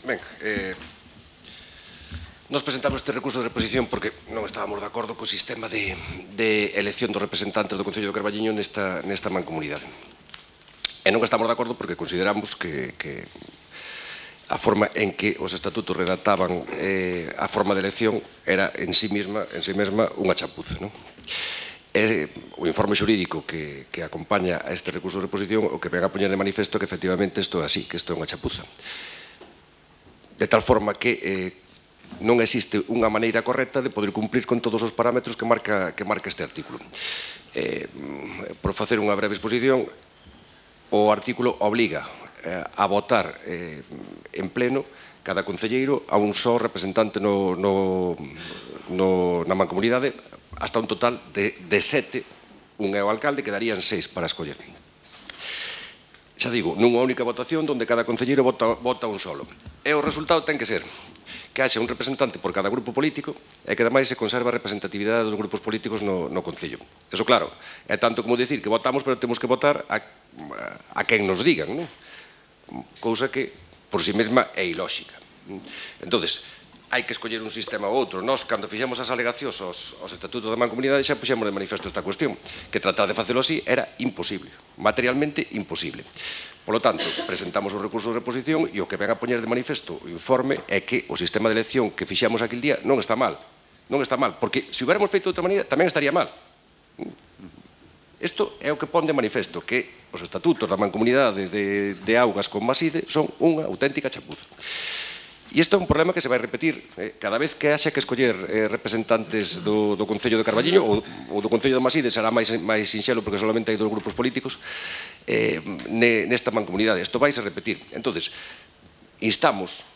Ben, nos presentamos este recurso de reposición porque non estábamos de acordo co sistema de elección dos representantes do Concello do Carballiño nesta mancomunidade. E non estamos de acordo porque consideramos que a forma en que os estatutos redactaban a forma de elección era en sí mesma unha chapuza. O informe xurídico que acompaña a este recurso de reposición o que ven a poñer de manifesto que efectivamente isto é así, que isto é unha chapuza. De tal forma que non existe unha maneira correcta de poder cumplir con todos os parámetros que marca este artículo. Por facer unha breve exposición, o artículo obliga a votar en pleno cada concelleiro a un só representante na mancomunidade hasta un total de 7, un é o alcalde, quedarían 6 para escoller. Xa digo, nunha única votación onde cada concelleiro vota un solo. E o resultado ten que ser que haxa un representante por cada grupo político e que ademais se conserva a representatividade dos grupos políticos no Concello. Eso claro, é tanto como dicir que votamos, pero temos que votar a quen nos digan, non? Cousa que por si mesma é ilóxica. Entonces, hai que escoller un sistema ou outro. Nós, cando fixemos as alegacións aos estatutos da mancomunidade, xa puxemos de manifesto esta cuestión, que tratar de facelo así era imposible, materialmente imposible. Por lo tanto, presentamos o recurso de reposición e o que ven a poñer de manifesto o informe é que o sistema de elección que fixemos aquel día non está mal. Non está mal, porque se hubiéramos feito de outra maneira tamén estaría mal. Isto é o que pon de manifesto, que os estatutos da mancomunidade de Augas con Maside son unha auténtica chapuza. E isto é un problema que se vai repetir cada vez que haxa que escoller representantes do Concello de Carballiño ou do Concello de Maside, será máis sinxelo porque solamente hai 2 grupos políticos nesta mancomunidade. Isto vai se repetir. Entonces, instamos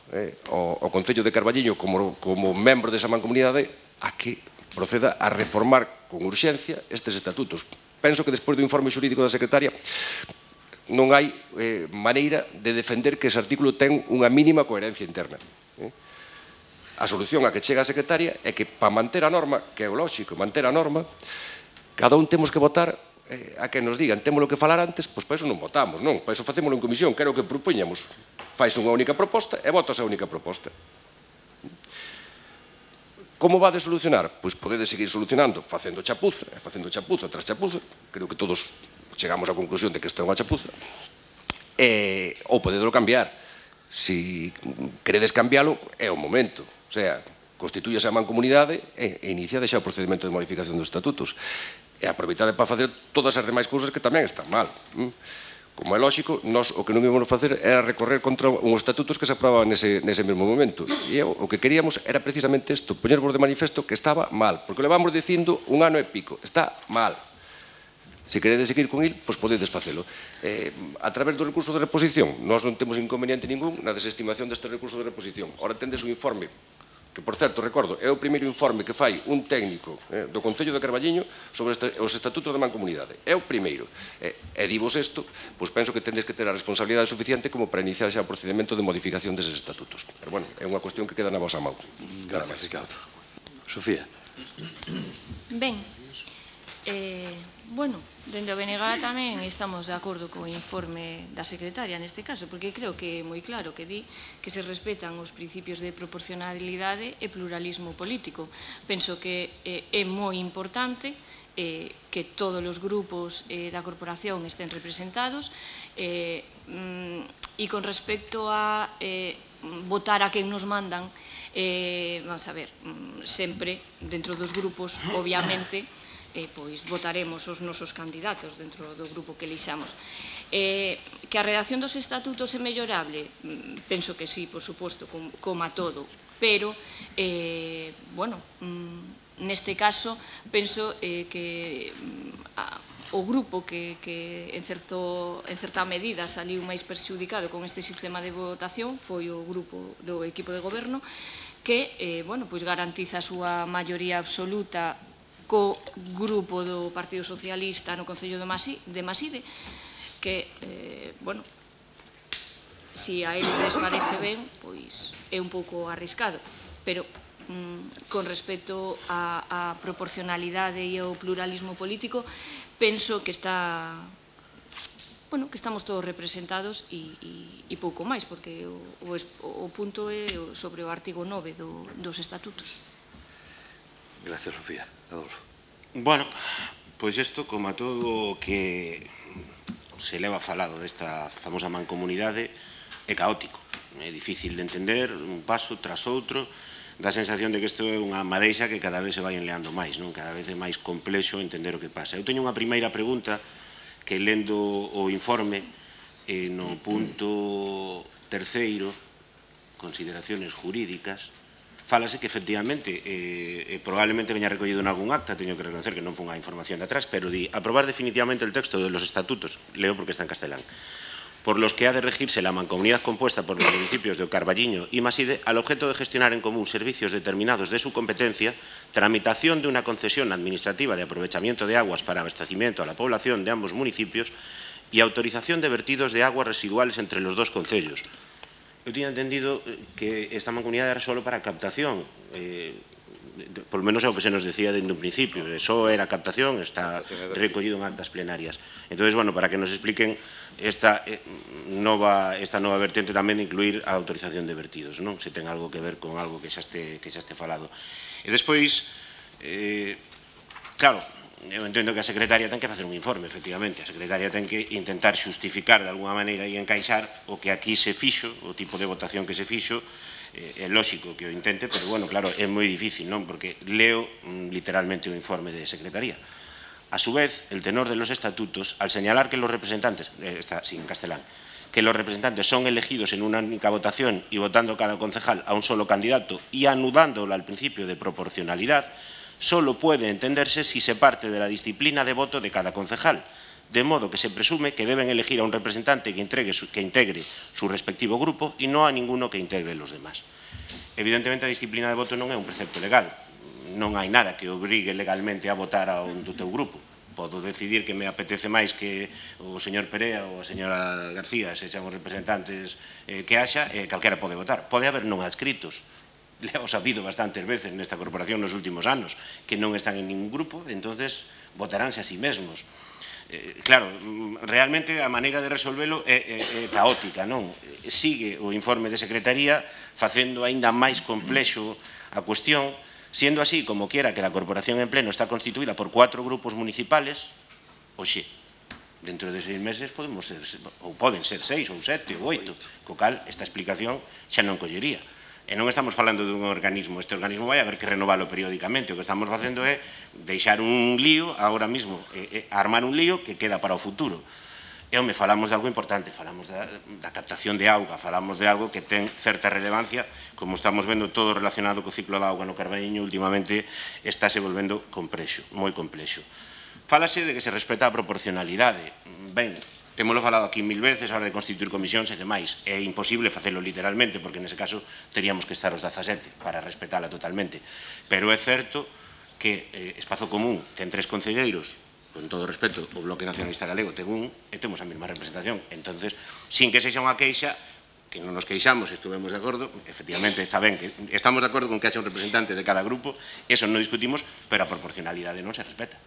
ao Concello de Carballiño como membro desa mancomunidade a que proceda a reformar con urxencia estes estatutos. Penso que despois do informe xurídico da secretaria non hai maneira de defender que ese artículo ten unha mínima coherencia interna. A solución a que chega a secretaria é que para manter a norma, que é o lóxico, manter a norma, cada un temos que votar a que nos digan, temos que falar antes, pois para iso non votamos, non, para iso facémoslo en comisión, que era o que propoñamos. Fais unha única proposta e votas a única proposta. Como va de solucionar? Pois podedes seguir solucionando facendo chapuza tras chapuza. Creo que todos chegamos á conclusión de que isto é unha chapuza. Ou podedelo cambiar. Se queredes cambiálo, é o momento. O sea, constitúyase a mancomunidade e inicia xa o procedimento de modificación dos estatutos. E aproveitade para facer todas as demais cousas que tamén están mal. Como é lógico, nós o que non íbamos facer era recorrer contra uns estatutos que se aprobaban nese mesmo momento. E o que queríamos era precisamente isto, poñervos de manifesto que estaba mal, porque levamos dicindo 1 ano e pico, está mal. Se queredes seguir con il, pois podedes facelo. A través do recurso de reposición, nós non temos inconveniente ningún na desestimación deste recurso de reposición. Ora tendes un informe que, por certo, recordo, é o primeiro informe que fai un técnico do Concello de Carballiño sobre os estatutos da mancomunidade. É o primeiro. E divos isto, pois penso que tendes que ter a responsabilidade suficiente como para iniciar xa o procedimento de modificación deses estatutos. Pero, bueno, é unha cuestión que queda na vosa mão. Gracias, Ricardo. Sofía. Ben, bueno, dende o BNG tamén estamos de acordo co informe da secretaria neste caso, porque creo que é moi claro que di que se respetan os principios de proporcionalidade e pluralismo político. Penso que é moi importante que todos os grupos da corporación estén representados e con respecto a votar a quen nos mandan, vamos a ver, sempre dentro dos grupos, obviamente, pois votaremos os nosos candidatos dentro do grupo que elixamos. Que a redacción dos estatutos é mellorable? Penso que sí, por suposto, como a todo, pero, bueno, neste caso, penso que o grupo que en certa medida saliu máis perxudicado con este sistema de votación foi o grupo do equipo de goberno que, bueno, pois garantiza a súa maioría absoluta co grupo do Partido Socialista no Concello de Maside, que, bueno, se a eles les parece ben, pois é un pouco arriscado, pero con respecto á proporcionalidade e ao pluralismo político, penso que está bueno, que estamos todos representados e pouco máis, porque o punto é sobre o artigo 9 dos estatutos. Gracias, Sofía. Adolfo. Bueno, pois isto, como a todo o que se leva falado desta famosa mancomunidade, é caótico. É difícil de entender, un paso tras outro, dá a sensación de que isto é unha madeixa que cada vez se vai enleando máis, non? Cada vez é máis complexo entender o que pasa. Eu teño unha primeira pregunta que, lendo o informe, no punto terceiro, consideraciones jurídicas, fálase que efectivamente, probablemente veña recollido en algún acta, teño que reconocer que non foi unha información de atrás, pero di, aprobar definitivamente el texto de los estatutos, leo porque está en castelán, por los que ha de regirse la mancomunidad compuesta por los municipios de Carballiño y Maside, al objeto de gestionar en común servicios determinados de su competencia, tramitación de una concesión administrativa de aprovechamiento de aguas para abastecimiento a la población de ambos municipios y autorización de vertidos de aguas residuales entre los dos concellos. Eu tiña entendido que esta mancomunidade era solo para captación, por lo menos é o que se nos decía dende un principio, só era captación, está recollido en actas plenarias. Entón, bueno, para que nos expliquen esta nova vertente tamén de incluir a autorización de vertidos, non? Se ten algo que ver con algo que xa este falado. E despois, claro, eu entendo que a secretaria ten que facer un informe, efectivamente. A secretaria ten que intentar xustificar de alguna maneira e encaixar o que aquí se fixo, o tipo de votación que se fixo. É lógico que o intente, pero, bueno, claro, é moi difícil, non? Porque leo literalmente o informe de secretaría. A su vez, el tenor de los estatutos, al señalar que los representantes, está en castelán, que los representantes son elegidos en una única votación y votando cada concejal a un solo candidato y anudándolo al principio de proporcionalidad, solo puede entenderse si se parte de la disciplina de voto de cada concejal, de modo que se presume que deben elegir a un representante que integre su respectivo grupo y no a ninguno que integre los demás. Evidentemente, a disciplina de voto non é un precepto legal, non hai nada que obrigue legalmente a votar a un do teu grupo. Podo decidir que me apetece máis que o señor Perea ou a señora García sexan os representantes que haxa, calquera pode votar. Pode haber non adscritos. Leos habido bastantes veces nesta corporación nos últimos anos que non están en ningún grupo, entonces votaránse a sí mesmos. Claro, realmente a maneira de resolvelo é caótica, non? Sigue o informe de secretaría facendo aínda máis complexo a cuestión, siendo así como quiera que la corporación en pleno está constituída por 4 grupos municipales, oxe, dentro de 6 meses podemos ser, ou poden ser 6 ou 7 ou 8, co cal esta explicación xa non collería. E non estamos falando dun organismo, este organismo vai haber que renovalo periódicamente, o que estamos facendo é deixar un lío, agora mesmo, armar un lío que queda para o futuro. E, home, falamos de algo importante, falamos da captación de auga, falamos de algo que ten certa relevancia, como estamos vendo todo relacionado co ciclo da auga no Carballiño, últimamente estáse volvendo complexo, moi complexo. Fálase de que se respeta a proporcionalidade. Ben, témolo falado aquí 1000 veces, a hora de constituir comisións e demais. É imposible facelo literalmente, porque nese caso teríamos que estar os 17 para respetala totalmente. Pero é certo que Espazo Común ten 3 concelleiros, con todo respeto, o Bloque Nacionalista Galego ten un, e temos a mesma representación. Entonces, sin que sexa unha queixa, que non nos queixamos, estuvemos de acordo, efectivamente, saben que estamos de acordo con que haxa un representante de cada grupo, eso non discutimos, pero a proporcionalidade non se respeta.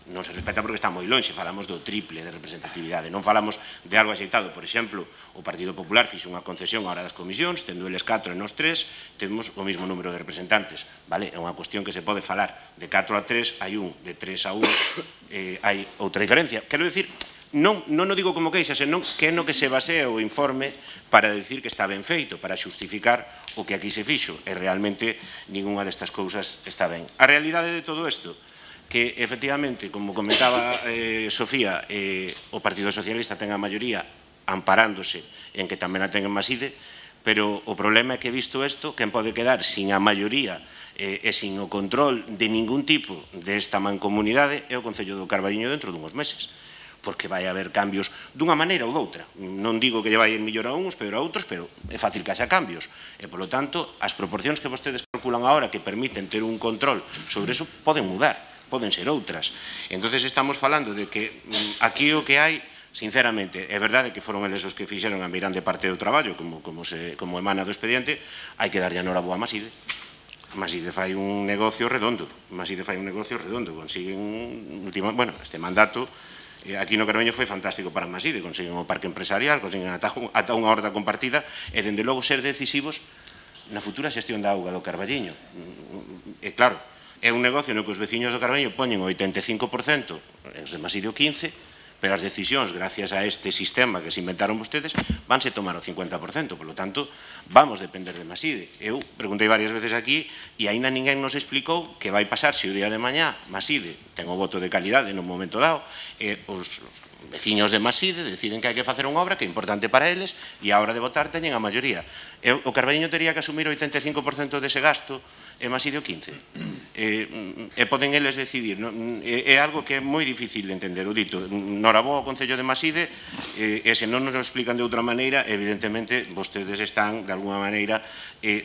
Non se respeta porque está moi longe, falamos do triple de representatividade, non falamos de algo axeitado. Por exemplo, o Partido Popular fixe unha concesión á hora das comisións, tendo eles 4 e nos 3, temos o mesmo número de representantes, vale? É unha cuestión que se pode falar, de 4 a 3 hai un, de 3 a 1 hai outra diferencia. Quero dicir, non o digo como queixa, senón que é no que se basea o informe para decir que está ben feito, para xustificar o que aquí se fixo, e realmente ninguna destas cousas está ben. A realidade de todo isto, que efectivamente, como comentaba Sofía, o Partido Socialista ten a maioría amparándose en que tamén a ten en Maside, pero o problema é que, visto isto, quen pode quedar sin a maioría e sin o control de ningún tipo desta mancomunidade é o Concello do Carballiño dentro dunhos meses, porque vai haber cambios dunha maneira ou doutra. Non digo que lle vai en mellor a uns, pero a outros, pero é fácil que haxa cambios. E, polo tanto, as proporcións que vostedes calculan agora que permiten ter un control sobre eso poden mudar, poden ser outras. Entonces estamos falando de que aquí o que hai, sinceramente, é verdade que foron eles os que fixeron a meirande parte do traballo, como emana do expediente, hai que darlle a noraboa a Maside. Maside fai un negocio redondo, consiguen, bueno, este mandato Aquí no Carballiño foi fantástico para Maside, consiguen o parque empresarial, consiguen ata unha horta compartida e, dende logo, ser decisivos na futura xestión da auga do Carballiño. E claro, é un negocio no que os veciños do Carballiño poñen o 85%, os de Maside o 15%, pero as decisións, gracias a este sistema que se inventaron vostedes, vanse tomar o 50%, polo tanto, vamos depender de Maside. Eu preguntei varias veces aquí e aínda ninguén nos explicou que vai pasar se o día de mañá Maside ten o voto de calidade no momento dado e os veciños de Maside deciden que hai que facer unha obra que é importante para eles e a hora de votar teñen a maioría. O Carballiño tería que asumir o 85% dese gasto e Maside o 15%. E poden eles decidir. É algo que é moi difícil de entender. O dito, noraboa ao Concello de Maside, e se non nos lo explican de outra maneira, evidentemente, vostedes están, de alguna maneira,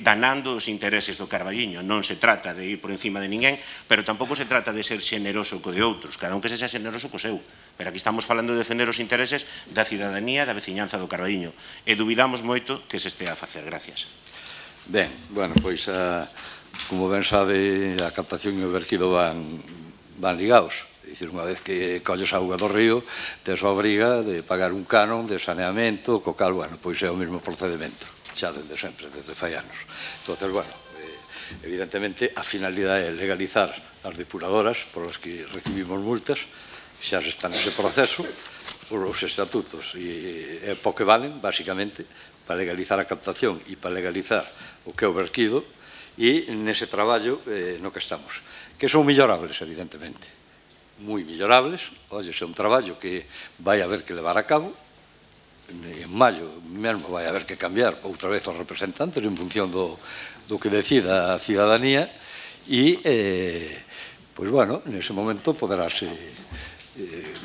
danando os intereses do Carballiño. Non se trata de ir por encima de ninguén, pero tampouco se trata de ser xeneroso co de outros. Cada un que se xa xeneroso co seu. Pero aquí estamos falando de defender os intereses da cidadanía, da veciñanza do Carballiño. E dubidamos moito que se estea a facer. Gracias. Ben, bueno, pois como ben sabe, a captación e o verquido van ligados. É dicir, unha vez que colles auga do río, tes a obriga de pagar un canon de saneamento, co cal, bueno, pois é o mesmo procedimento, xa dende sempre, desde fai anos. Entón, bueno, evidentemente, a finalidade é legalizar as depuradoras por as que recibimos multas, xa se está nese proceso, por os estatutos, e é po que valen, basicamente, para legalizar a captación e para legalizar o que é o verquido, e nese traballo no que estamos, que son mellorables, evidentemente, moi mellorables. Oye, é un traballo que vai haber que levar a cabo, en maio mesmo vai haber que cambiar outra vez os representantes en función do que decida a cidadanía, e, pois, bueno, nese momento poderase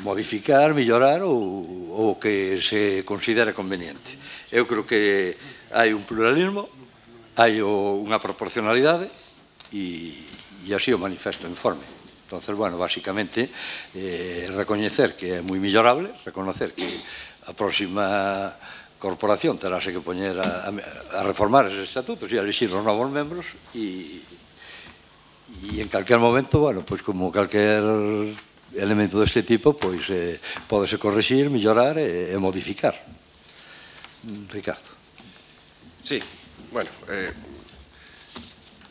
modificar, mellorar o que se considere conveniente. Eu creo que hai un pluralismo, hai unha proporcionalidade e así o manifesto o informe. Entón, bueno, basicamente, recoñecer que é moi millorable, reconocer que a próxima corporación terase que poñer a reformar esos estatutos e a elixir os novos membros e en calquer momento, bueno, pois como calquer elemento deste tipo, pois pódese corrixir, mellorar e modificar. Ricardo. Sí, bueno,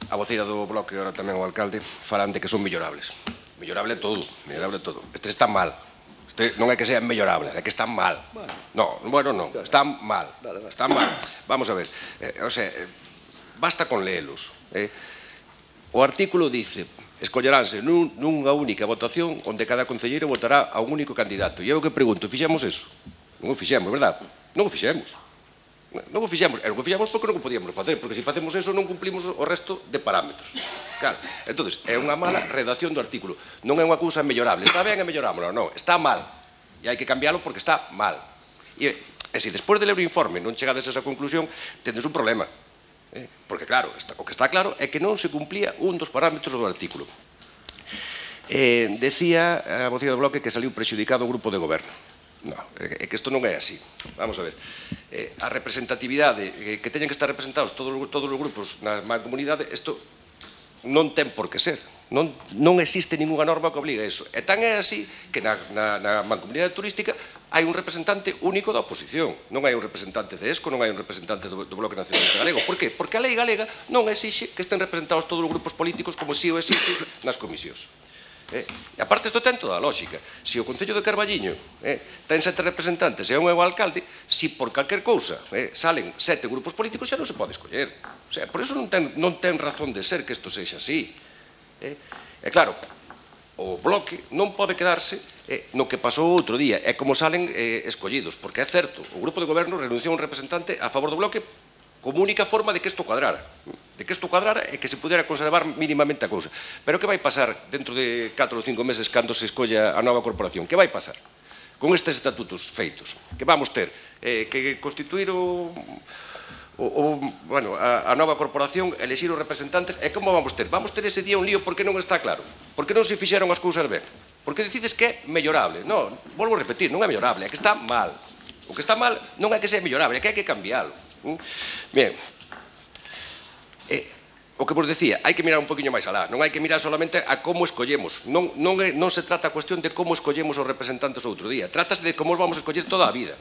a voceira do bloque, ahora tamén o alcalde, falan de que son mellorables. Mellorable todo, mellorable todo. Este está mal. Este non é que sea mellorable, é que están mal. No, bueno, non, están mal. Están mal. Vamos a ver, o sea, basta con leelos. O artículo dice: escolleránse nunha única votación onde cada concelleiro votará a un único candidato. E eu que pregunto, fixemos eso? Non o fixemos, verdad? Non o fixemos. Non o fixemos, e non o fixemos porque non o podíamos facer, porque se facemos eso non cumplimos o resto de parámetros. Claro, entón, é unha mala redacción do artículo. Non é unha cousa mellorable. Está ben e mellorámoslo, non, está mal. E hai que cambiarlo porque está mal. E se despois de ler o informe non chegades a esa conclusión, tendes un problema. Porque, claro, o que está claro é que non se cumplía un dos parámetros do artículo. Decía a voceira do bloque que saliu prexudicado o grupo de goberno. Non, é que isto non é así. Vamos a ver. A representatividade, que teñen que estar representados todos os grupos na mancomunidade, isto non ten por que ser. Non existe ninguna norma que obligue a iso. E tan é así que na mancomunidade turística hai un representante único da oposición. Non hai un representante de ESCO, non hai un representante do Bloque Nacionalista Galego. Por qué? Porque a lei galega non exixe que estén representados todos os grupos políticos como si o exixe nas comisións. E aparte isto ten toda a lógica. Se o Concello de Carballiño ten 7 representantes e un é o alcalde, se por calquer cousa salen 7 grupos políticos xa non se pode escoller. O sea, por iso non ten razón de ser que isto sexa así. E claro, o bloque non pode quedarse no que pasou outro día, é como salen escollidos, porque é certo, o grupo de goberno renunciou a un representante a favor do bloque como única forma de que isto cuadrara, e que se pudera conservar mínimamente a cousa. Pero que vai pasar dentro de 4 ou 5 meses cando se escolla a nova corporación? Que vai pasar con estes estatutos feitos? Que vamos ter que constituir a nova corporación, elexir os representantes, e como vamos ter? Vamos ter ese día un lío porque non está claro, porque non se fixeron as cousas ben, porque decides que é mellorable. Non, volvo a repetir, non é mellorable, é que está mal. O que está mal non é que sea mellorable, é que hai que cambiálo. Bien, o que vos decía, hai que mirar un poquinho máis alá, non hai que mirar solamente a como escollemos, non se trata a cuestión de como escollemos os representantes outro día, trátase de como os vamos a escoller toda a vida.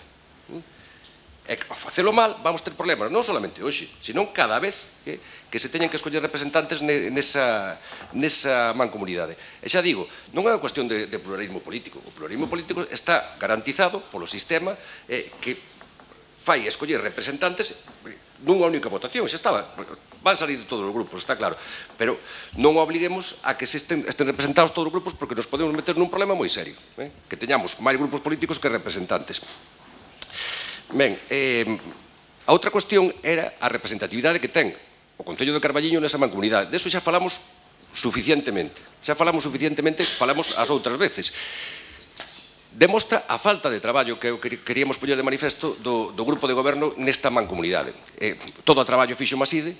E ao facelo mal vamos ter problemas, non solamente hoxe, senón cada vez que se teñen que escoller representantes nesa mancomunidade. E xa digo, non é unha cuestión de pluralismo político, o pluralismo político está garantizado polo sistema que fai escoller representantes nunha única votación, xa estaba, van salir de todos os grupos, está claro, pero non obliguemos a que estén representados todos os grupos porque nos podemos meter nun problema moi serio, que teñamos máis grupos políticos que representantes. Ben, a outra cuestión era a representatividade que ten o Concello de Carballiño nesa mancomunidade. De eso xa falamos suficientemente, falamos as outras veces. Demostra a falta de traballo que queríamos poñer de manifesto do grupo de goberno nesta mancomunidade. Todo o traballo fixo Maside,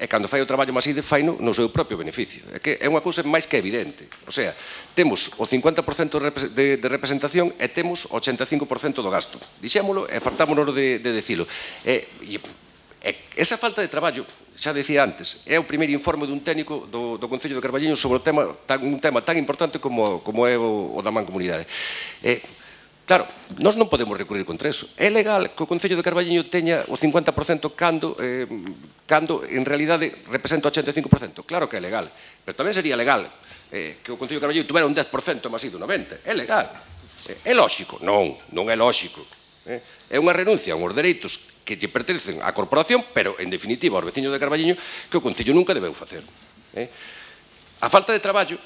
e cando fai o traballo Maside faino no seu propio beneficio. É unha cousa máis que evidente. O sea, temos o 50% de representación e temos o 85% do gasto. Dixémolo e fartámonos de decilo. Esa falta de traballo, xa decía antes, é o primeiro informe dun técnico do Concello de Carballiño sobre un tema tan importante como é o da mancomunidade. Claro, nós non podemos recurrir contra eso. É legal que o Concello de Carballiño teña o 50% cando en realidade representa o 85%. Claro que é legal, pero tamén sería legal que o Concello de Carballiño tuvera un 10% máis do 90%. É legal. É lóxico? Non é lóxico. É unha renuncia a uns dereitos que lle pertencen á corporación, pero, en definitiva, aos veciños de Carballiño, que o Concello nunca debeu facer. A falta de traballo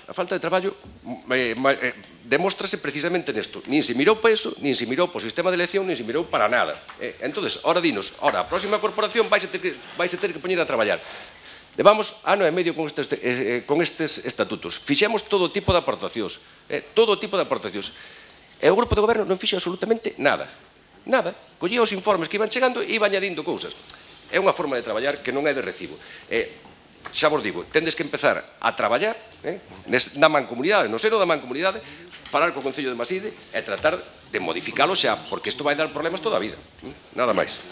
demóstrase precisamente nesto. Nin se mirou para iso, nin se mirou para o sistema de elección, nin se mirou para nada. Entón, ora dinos, a próxima corporación vais a ter que poñer a traballar. Levamos ano e medio con estes estatutos. Fixemos todo tipo de aportacións. E o grupo de goberno non fixo absolutamente nada. Nada. Collía os informes que iban chegando e iba añadindo cousas. É unha forma de traballar que non é de recibo. Xa vos digo, tendes que empezar a traballar na mancomunidade, no seno da mancomunidade, falar co Concello de Maside e tratar de modificalo xa, porque isto vai dar problemas toda a vida. Nada máis.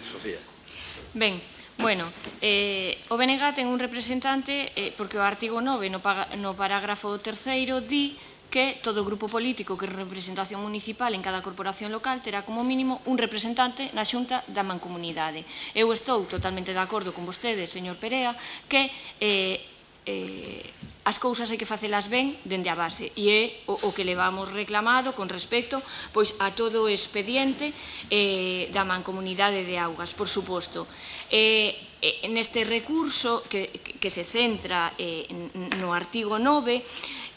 Sofía. Ben, bueno, o BNG ten un representante porque o artigo 9 no parágrafo 3º di que todo grupo político que representación municipal en cada corporación local terá como mínimo un representante na xunta da mancomunidade. Eu estou totalmente de acordo con vostede, señor Perea, que as cousas hai que facelas ben dende a base e é o que levamos reclamado con respecto a todo o expediente da mancomunidade de Augas, por suposto. Neste recurso que se centra no artigo 9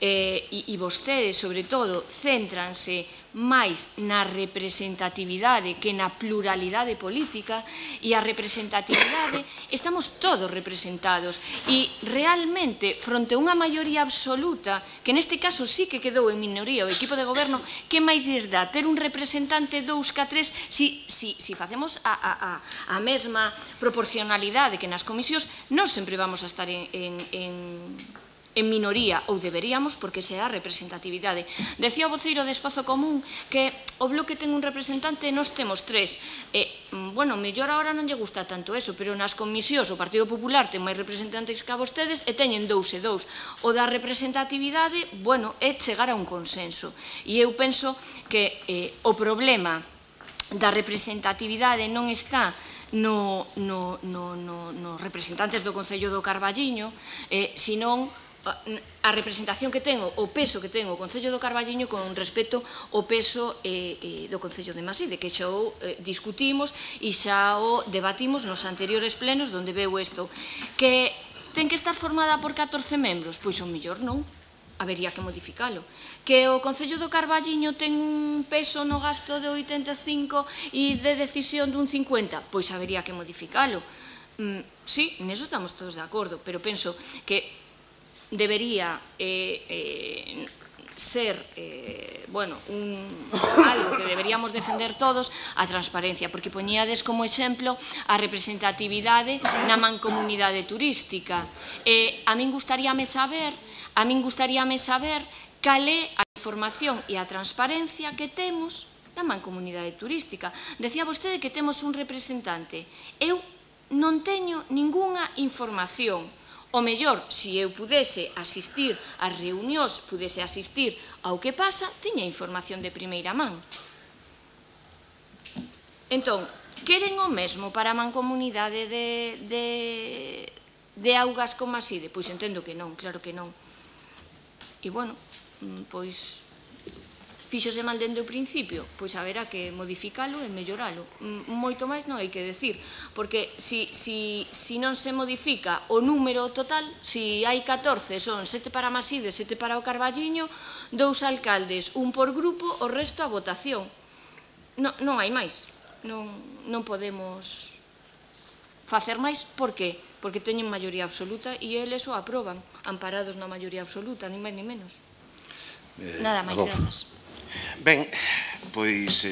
e vostedes, sobre todo, céntranse máis na representatividade que na pluralidade política, e a representatividade estamos todos representados e realmente fronte a unha maioría absoluta, que neste caso sí que quedou en minoría o equipo de goberno, que máis lles dá ter un representante 2 que 3 si facemos a mesma proporcionalidade que nas comisións, non sempre vamos a estar en minoría, ou deberíamos, porque se é a representatividade. Decía o voceiro de Espazo Común que o Bloque ten un representante e nós temos 3. Bueno, mellor agora non lle gusta tanto eso, pero nas comisións o Partido Popular ten máis representantes que a vostedes e teñen 2 e 2. O da representatividade, bueno, é chegar a un consenso. E eu penso que o problema da representatividade non está nos representantes do Concello do Carballiño, senón a representación que ten, o peso que ten o Concello do Carballiño con respecto ao peso do Concello de Maside, que xa o discutimos e xa o debatimos nos anteriores plenos onde veu isto. Que ten que estar formada por 14 membros? Pois o mellor non, habería que modificalo. Que o Concello do Carballiño ten un peso no gasto de 85 e de decisión dun 50? Pois habería que modificalo. Sí, neso estamos todos de acordo, pero penso que debería ser algo que deberíamos defender todos, a transparencia, porque poñíades como exemplo a representatividade na mancomunidade turística. A min gustaríame saber cal é a información e a transparencia que temos na mancomunidade turística. Decía vostede que temos un representante. Eu non teño ningunha información. O mellor, se eu pudese asistir ás reunións, pudese asistir ao que pasa, tiña información de primeira man. Entón, queren o mesmo para a mancomunidade de augas con Maside? Pois entendo que non, claro que non. E, bueno, pois, fíxose mal dende o principio, pois haberá que modificalo e melloralo. Moito máis non hai que decir, porque se non se modifica o número total, se hai 14, son 7 para Maside, 7 para o Carballiño, 2 alcaldes, un por grupo, o resto a votación. Non hai máis. Non podemos facer máis. Por qué? Porque teñen maioría absoluta e eles o aproban, amparados na maioría absoluta, ni máis ni menos. Nada máis, grazas. Ben, pois,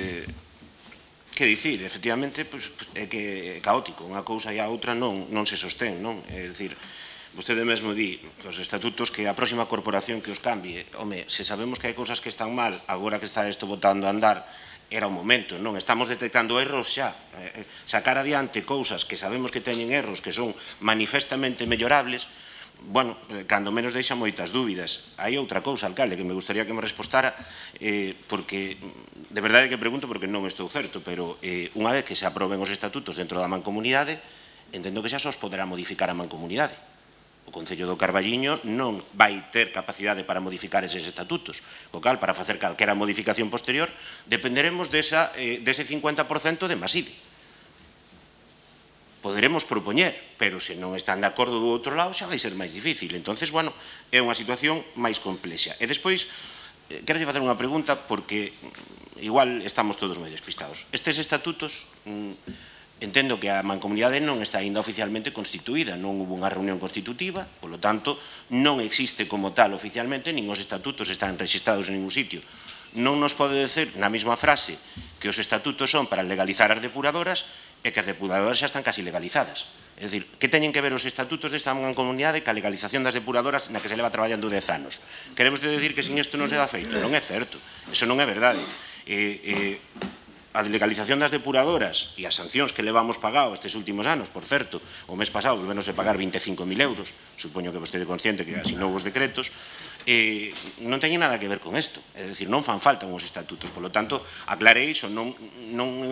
que dicir, efectivamente, é que é caótico, unha cousa e a outra non se sostén, non? É dicir, vostede mesmo di, os estatutos, que a próxima corporación que os cambie, home, se sabemos que hai cousas que están mal, agora que está isto botando a andar, era o momento, non? Estamos detectando erros xa. Sacar adiante cousas que sabemos que teñen erros, que son manifestamente mellorables, bueno, cando menos deixa moitas dúbidas. Hai outra cousa, alcalde, que me gustaría que me respostara, porque, de verdade que pregunto porque non estou certo, pero unha vez que se aproben os estatutos dentro da mancomunidade, entendo que xa só os poderá modificar a mancomunidade. O Concello do Carballiño non vai ter capacidade para modificar eses estatutos. O cal, para facer calquera modificación posterior, dependeremos dese 50% de Maside. Poderemos propoñer, pero se non están de acordo do outro lado xa vai ser máis difícil. Entonces, bueno, é unha situación máis complexa. E despois, quero facer unha pregunta porque igual estamos todos moi despistados. Estes estatutos, entendo que a mancomunidade non está ainda oficialmente constituída, non hubo unha reunión constitutiva, polo tanto, non existe como tal oficialmente, nin os estatutos están registrados en ningún sitio. Non nos pode decir na mesma frase que os estatutos son para legalizar as depuradoras e que as depuradoras xa están casi legalizadas. É dicir, que teñen que ver os estatutos desta mancomunidade ca legalización das depuradoras na que se leva traballando 10 anos? Queremos decir que sin isto non se dá feito? Non é certo, eso non é verdade. A legalización das depuradoras e as sancións que levamos pagado estes últimos anos, por certo, o mes pasado volvenos a pagar 25.000 euros, supoño que vostede consciente que asinou os decretos, non teñen nada que ver con isto, é dicir, non fan falta uns estatutos, polo tanto, aclare iso, non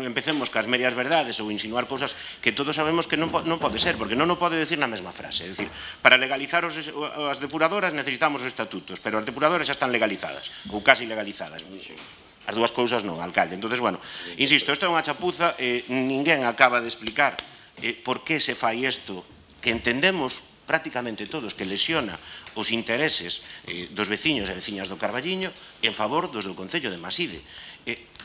empecemos cas medias verdades ou insinuar cousas que todos sabemos que non pode ser, porque non o pode decir na mesma frase, é dicir, para legalizar as depuradoras necesitamos os estatutos, pero as depuradoras xa están legalizadas, ou casi legalizadas. As dúas cousas non, alcalde. Entón, bueno, insisto, isto é unha chapuza, ninguén acaba de explicar por que se fai isto, que entendemos prácticamente todos que lesiona os intereses dos veciños e veciñas do Carballiño en favor dos do Concello de Maside.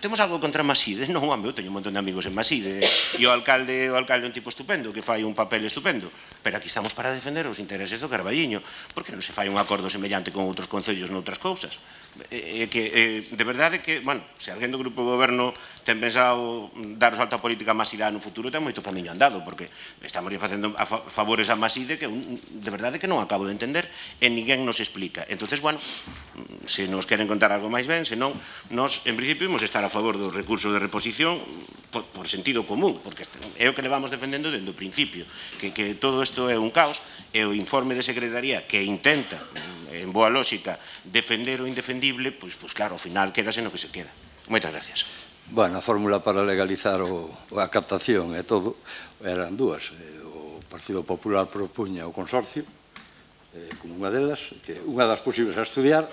Temos algo contra Maside? Non, home, eu teño un montón de amigos en Maside e o alcalde é un tipo estupendo que fai un papel estupendo, pero aquí estamos para defender os intereses do Carballiño. Por que non se fai un acordo semellante con outros concellos noutras cousas? De verdade que, bueno, se alguén do grupo de goberno ten pensado dar o salto a política a Maside no futuro, ten moito camiño andado, porque estamos facendo favores a Maside que de verdade que non acabo de entender e ninguén nos explica. Entonces, bueno, se nos queren contar algo máis ben, senón, nos, en principio, imos estar a favor do recurso de reposición por sentido común, porque é o que levamos defendendo dende o principio, que todo isto é un caos, e o informe de Secretaría que intenta, en boa lógica, defender o indefendible, pois claro, ao final quedase no que se queda. Moitas gracias. Bueno, a fórmula para legalizar a captación e todo eran dúas. O Partido Popular propuña o consorcio como unha delas, que unha das posibles a estudiar,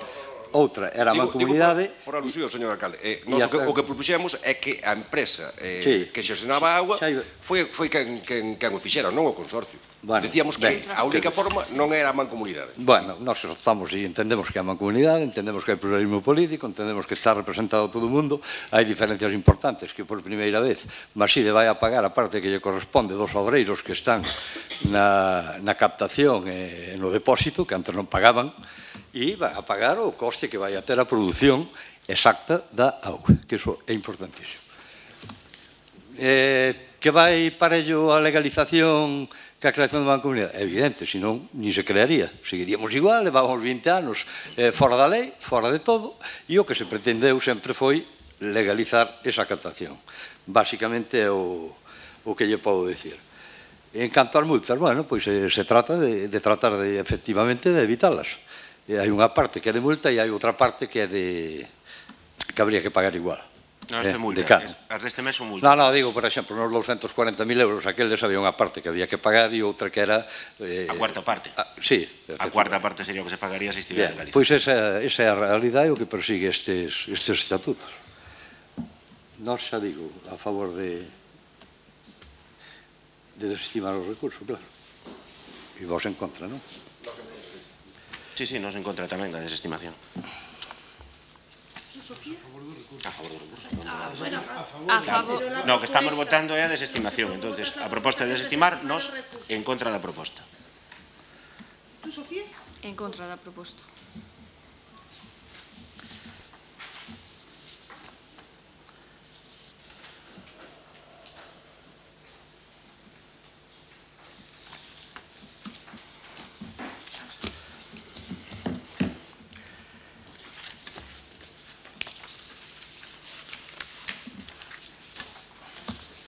outra era a mancomunidade. Por alusión, señor alcalde, o que propuxemos é que a empresa que xestionaba a agua foi quen o fixera, non o consorcio. Decíamos que a única forma non era a mancomunidade. Bueno, nós estamos e entendemos que é a mancomunidade, entendemos que hai pluralismo político, entendemos que está representado todo o mundo, hai diferencias importantes que por primeira vez Maside vai a pagar a parte que lle corresponde dos obreiros que están na captación e no depósito, que antes non pagaban, e vai a pagar o coste que vai a ter a produción exacta da auga, que iso é importantísimo. Que vai para ello a legalización que a creación da mancomunidade? É evidente, senón, ni se crearía. Seguiríamos igual, levábamos 20 anos fora da lei, fora de todo, e o que se pretendeu sempre foi legalizar esa captación. Básicamente é o que lle podo dicir. En canto ás multas, bueno, pois se trata de tratar de, efectivamente, de evitalas. Hai unha parte que é de multa e hai outra parte que é de... que habría que pagar igual. Non, as de multa, as deste mes son multa. Non, digo, por exemplo, nos 240.000 euros, aqueles había unha parte que había que pagar e outra que era... A cuarta parte. Sí. A cuarta parte sería o que se pagaría se estivera en Galicia. Pois esa é a realidade o que persigue estes estatutos. Nós xa digo, a favor de desestimar os recursos, claro. E vos en contra, non? Sí, nos en contra tamén da desestimación. A favor do recurso. A favor. No, que estamos votando é a desestimación. Entonces, a proposta de desestimar, nos en contra da proposta. En contra da proposta.